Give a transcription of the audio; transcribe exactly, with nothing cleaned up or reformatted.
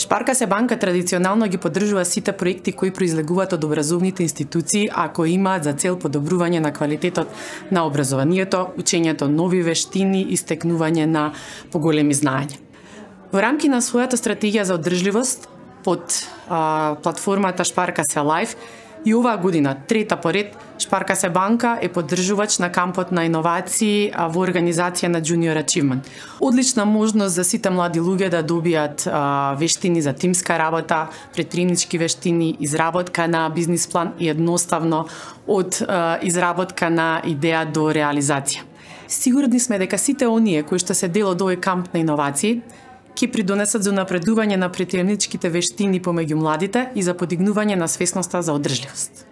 Шпарка се банка традиционално ги поддржува сите проекти кои произлегуваат од образовните институции, а кои имаат за цел подобрување на квалитетот на образованието, учењето нови вештини и стекнување на поголеми знаења. Во рамки на својата стратегија за одржливост под а, платформата Шпарка се Лайф, и оваа година, трета поред, Шпарка се банка е поддржувач на кампот на иновации во организација на Junior Achievement. Одлична можност за сите млади луѓе да добијат а, вештини за тимска работа, предприемнички вештини, изработка на бизнис план и едноставно од а, изработка на идеја до реализација. Сигурни сме дека сите оние кои што се дел од овој камп на иновации ќе придонесат за напредување на предприемничките вештини помеѓу младите и за подигнување на свесноста за одржливост.